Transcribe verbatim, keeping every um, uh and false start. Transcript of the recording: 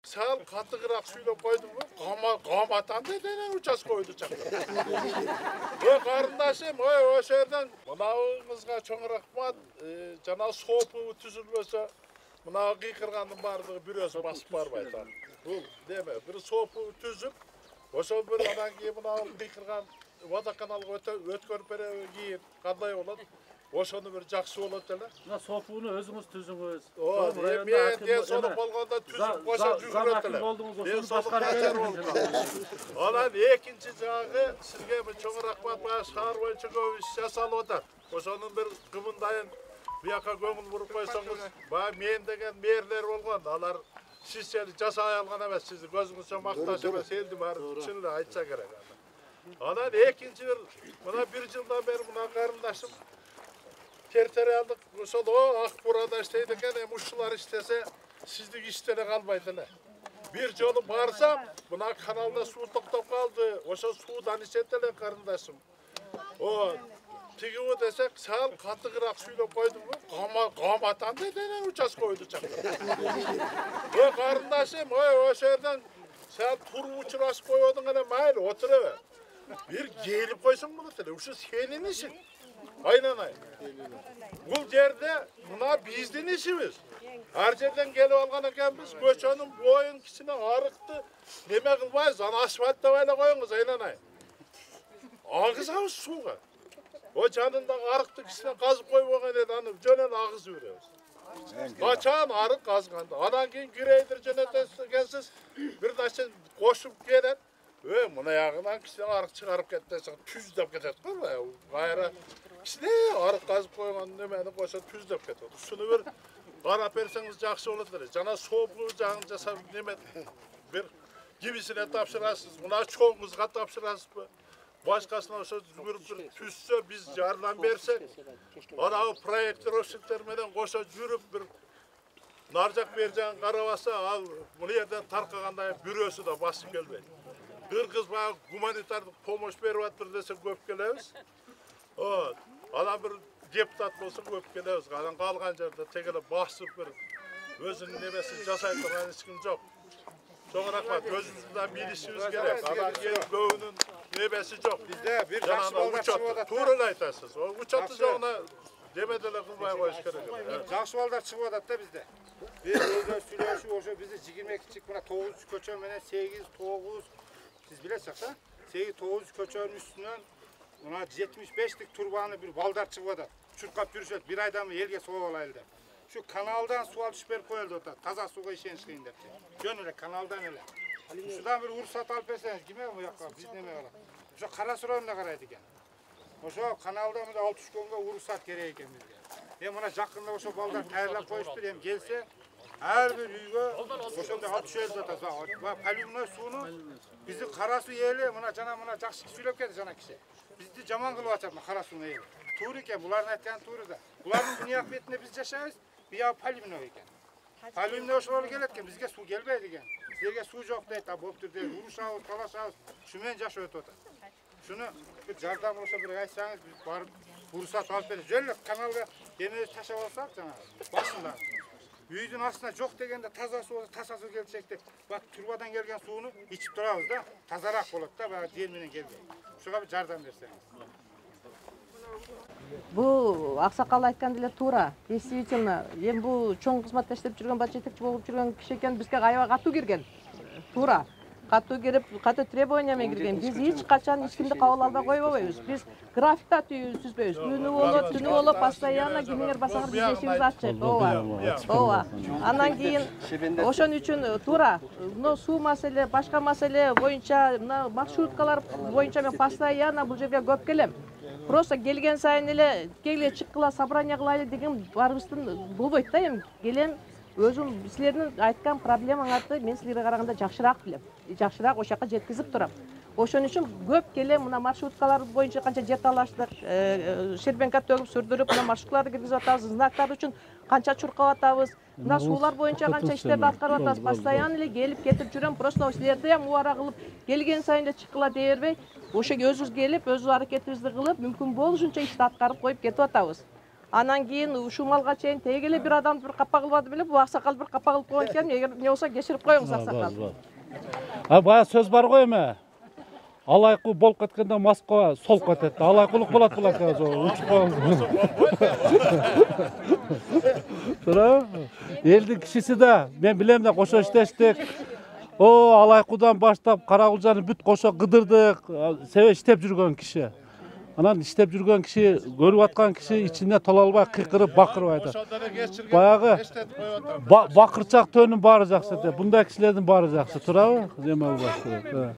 сал катыгыраак сүйлөп койдумбу? Каматанды деген участка койду чакта. Ой карындашым, ой ошо жерден мынабыңызга чоң рахмат. Жана сопу түзүлбөсө мына кыйкыргандын баардыгы бирөөсү басып барбайт. Бул деме, бир сопу түзүп, ошол бир анан кийин мына кыйкырган водоканалга өткөрүп береби кийин кандай болот? Ошону бир жакшы болот эле. Мына сопуну өзүңүз түзүңүз. О, мен ден соолук болгондо түзүп койсо жүгүрөт эле. Ден соолук начар болуп. Анан экинчи жагы сизге чоң рахмат, баягы шаар боюнча көп иш жасалып атат. Ошонун бир кымындайын бияка көңүл буруп койсоңуз, баягы мен деген мэрлер болгон. Алар сизче жасай алган эмес, сизди көзүңүзчө макташ эмес, элди баары чын эле айтса керек. Анан экинчи бир мына бир жылдан бери мына карындашым территориалдык ошол ак бурада иштейт экен, эми ушулар иштесе сиздик иштеле калбайт эле. Бир жолу барсам, мына каналда суу токтоп калды. Ошол суудан ичет эле карындашым. О, тигиби десек, сал катыгыраак сүйлөп койдумбу? Каматанды деген участка койду чакта. Ой карындашым, ой ошо жерден сал туруп учурашып койбодуң эле, майли отуребе. Бир келип койсоң болот эле, ушу сенин ишиң. Aynanay. Бул жерде мына биздин ишибиз. Ар жерден келип алган экенбиз, көчөнүн боюн кичине арыкты неме кылбайбыз, аны асфальттабай эле коюңуз, aynanay. Агызабыз сууга. О жанындагы арыкты кичине казып койбогон эле, аны жөн эле агызып беребиз. Качан арык казганда, анан кийин грейдер жөнөтөсүз экенсиз, бир нерсе кошуп келет. Өө, мына ягынан кичине арык чыгарып кетсе, түздөп кетет го, кайра кичине арык казып койгон немени койсо түздөп кетет. Ушуну бир карап берсеңиз жакшы болот эле. Жана сопу жагын жасап неме бир кимисине тапшырасыз, мына чоңуңузга тапшырасызбы? Башкасына ошо жүгүрүп бир түзсө, биз жардам берсек, анагы проектировщиктер менен кошо жүрүп бир нар жак бер жагын карабаса, ал бул жерден таркаганда бирөөсү да басып келбейт. Кыргыз баягы гуманитардык помощь берип атыр десе көп келебиз. Вот. Анан бир депутат болсо көп келебиз. Анан калган жерде тегеле басып бир өзүнүн немесин жасай турган эч ким жок. Чоң рахмат, өзүбүздү да билишибиз керек. Анан кийин көбүнүн небеси жок. Бизде бир жакшы балдар чыгып атат. Туура эле айтасыз. Учетты жогуна деме деле кылбай коюш керек. Жакшы балдар чыгып атат да бизде. Биз өзү сүйлөшүп, ошо бизди жыйырма эки мына тогуз көчө менен сегиз тогуз сиз билесиз да? сегиз тогуз көчөнүн үстүнөн мына жетимиш бештик турбаны бир балдар чыгып атат. Чуркап жүрүшөт, бир айдан элге соо алайлы деп. Şu kanaldan su alış berip koyuldu da taza suga işeniş kıyın dep. Jön ele kanaldan ele. Şuradan bir ruhsat alıp berseniz kime bu yakka biz neme ola. Şu kara suranına karaydı eken. Oşo kanalda mı da altı üç konga ruhsat gerek eken bizge. Hem ona jakında oşo balдар tayarlap koyuştur hem gelse her bir uyga oşonda altı üç elde taza. Palimnoy suunu bizi kara su yeli mına jana mına jakşı süylöp ketdi jana kişi. Bizdi jaman kılıp atapmı kara suunu yeli. Tuğru eken buların aytkan tuğru da. Buların dünya akıbetinde biz yaşayız. Bir ya palimnoy eken. Palimnoy oşolar geletken bizge su gelbeydi eken. Sizlerge su jok deyt, boptur deyt, uruşabız, talaşabız, şumen jaş ötüp atat. Şunu bir jardam olsa bir aytsanız biz barıp ruhsat alıp berip jönle kanalga demir taşap alsak jana başında. Үйдүн астына жок дегенде таза суу, таза суу келчек деп, бак турбадан келген сууну ичип турабыз да, тазараак болот да, баягы жер менен келген. Ушуга бир жардам берсеңиз. Бул аксакал айткан деле туура. Действительно, эми бул чоң кызматта иштеп жүргөн, баш жетекчи болуп жүргөн киши экен, бизге аябай катуу кирген. Туура. Катуу кирип, катуу требования менен кирген. Биз эч качан эч кимди кабыл албай койбойбуз. Биз графикта түзбөйбүз. Күнү болот, түнү болот, постоянно кимдер басаңар биз эшигибиз ачык. Ооба. Ооба. Андан кийин ошон үчүн туура. Мына суу маселе, башка маселе боюнча, мына маршруткалар боюнча мен постоянно бул жерге көп келем. Просто келген сайын эле келе чыккыла собрание кылайлы деген барыбыздын болбойт да эми. Келем өзүм силердин айткан проблемаңарды мен силерге караганда жакшыраак билем. Жакшыраак ошол жака жеткизип турам. Ошон үчүн көп келем мына маршруткалар боюнча канча жер талаштык, шербенка төгүп сүрдүрүп мына маршруткаларды киргизип атабыз, знактар үчүн канча чуркап атабыз, мына суулар боюнча канча иштерди аткарып атабыз. Постоянно эле келип кетип жүрөм. Просто силерди ham убара кылып келген сайын эле чыккыла дей бербей, ошо өзүбүз келип, өз аракетибизди кылып, мүмкүн болушунча ишти аткарып коюп кетип атабыз. Анан кийин ушул малга чейин теги эле бир адамды бир капа кылбады беле, бул аксакал бир капа кылып койгон экен. Эгер эмне болсо кечирип коюңуз аксакал. А бая сөз бар го эме. Алайкуу болуп кеткенде Москва солуп кетет. Алайкулук болот булак учуп коюңуз. Тура? Элдин кишиси да, мен билем да кошо иштештик. О, Алайкуудан баштап Карагулжаны бүт кошо кыдырдык. Себеби иштеп жүргөн киши. Анан иштеп жүргөн киши, көрүп аткан киши ичине тола албай кыйкырып бакырып айтат. Баягы бакырчак төнүн баары жакшы эте. Мындай кишилердин баары жакшы, туурабы? Эме албаш керек.